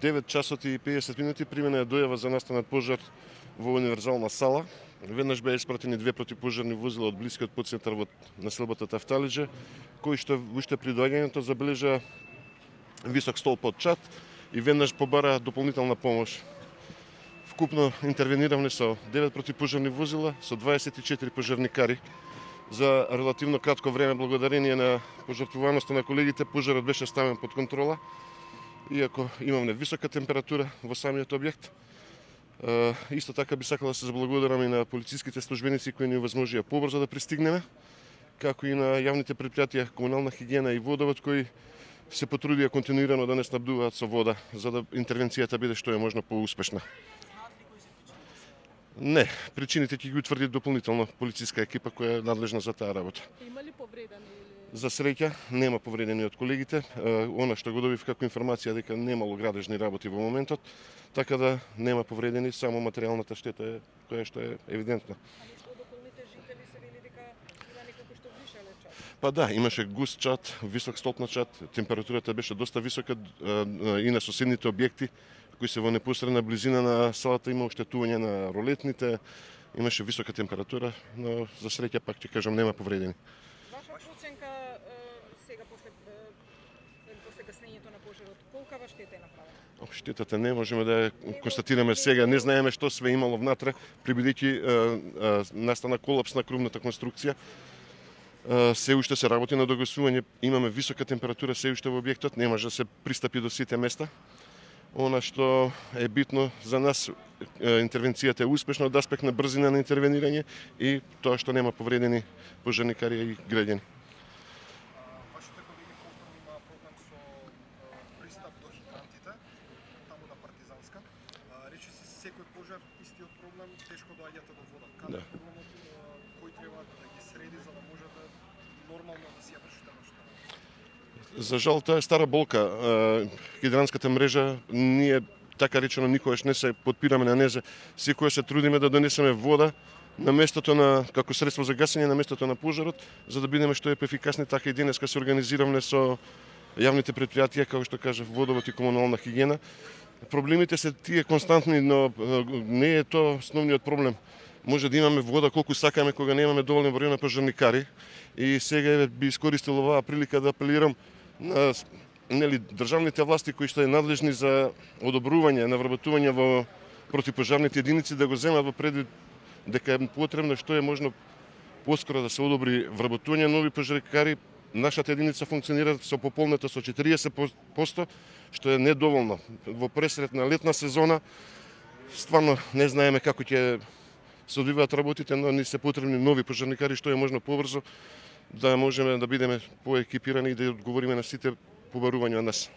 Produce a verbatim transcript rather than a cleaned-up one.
девет часот и педесет минути примена е дојава за настанат пожар во универзална сала. Веднаш беа испратени две противпожарни возила од блискиот подцентар во населбата Тафталиџе, кои што уште при доаѓањето забележа висок столб од чад и веднаш побара дополнителна помош. Вкупно интервениравме со девет противпожарни возила, со дваесет и четири пожарникари. За релативно кратко време, благодарение на пожртвуваноста на колегите, пожарот беше ставен под контрола, иако имаме висока температура во самиот објект. Исто така би сакала да се заблагодарам и на полициските службеници кои ни овозможија побрзо да пристигнеме, како и на јавните предпријатија Комунална хигиена и Водовод кои се потрудија континуирано да не снабдуваат со вода, за да интервенцијата биде што е можно поуспешна. Не, причините ќе ги утврди дополнително полициска екипа која е надлежна за таа работа. Има ли повредени? За среќа нема повредени од колегите. Она што го добив како информација дека немало градежни работи во моментот, така да нема повредени, само материјалната штета е која што е евидентна. Али од околните жители се вели дека има неколку што вдишале чад? Па да, имаше густ чад, висок столб на чад, температурата беше доста висока и на соседните објекти кои се во непосредна близина на салата има оштетување на ролетните, имаше висока температура, но за среќа пак ќе кажам нема повредени. Ваша проценка сега после после гаснењето на пожарот, колкава штета е направена? Штетата не можеме да ја констатираме сега, не знаеме што све имало внатре, прибедејќи настана колапс на крувната конструкција. Се уште се работи на догасување, имаме висока температура се уште во објектот, не може да се пристапи до сите места. Она што е битно за нас, интервенцијата е успешна од аспект на брзина на интервенирање и тоа што нема повредени пожарникари и граѓани. Вашите колеги повторно имаа проблем со пристап до хидрантите, таму на Партизанска. Речи се секој пожар истиот проблем, тешко доаѓате до вода. Каде е проблемот, кој треба да ги среди за да може да нормално да си ја вршите нешто? За жал, тоа е стара болка. Хидранската мрежа, ние така речено никогаш не се подпираме на незе. Секоја се трудиме да донесеме вода на местото на како средство за гасење на местото на пожарот, за да бидеме што е поефикасни. Така и денеска се организиравме со јавните предпријатија, како што кажав, Водовод и Комунална хигиена. Проблемите се тие константни, но не е тоа основниот проблем. Може да имаме вода колку сакаме кога немаме доволен број на пожарникари. И сега би искористил оваа прилика да апелирам на нели државните власти кои што е надлежни за одобрување на вработување во противпожарните единици да го земат во предвид дека е потребно што е можно поскоро да се одобри вработување нови пожарникари. Нашата единица функционира со пополнета со четириесет проценти, што е недоволно. Во пресред на летна сезона стварно не знаеме како ќе се одвиваат работите, но ни се потребни нови пожарникари што е можно побрзо да можеме да бидеме поекипирани и да одговориме на сите побарувања од нас.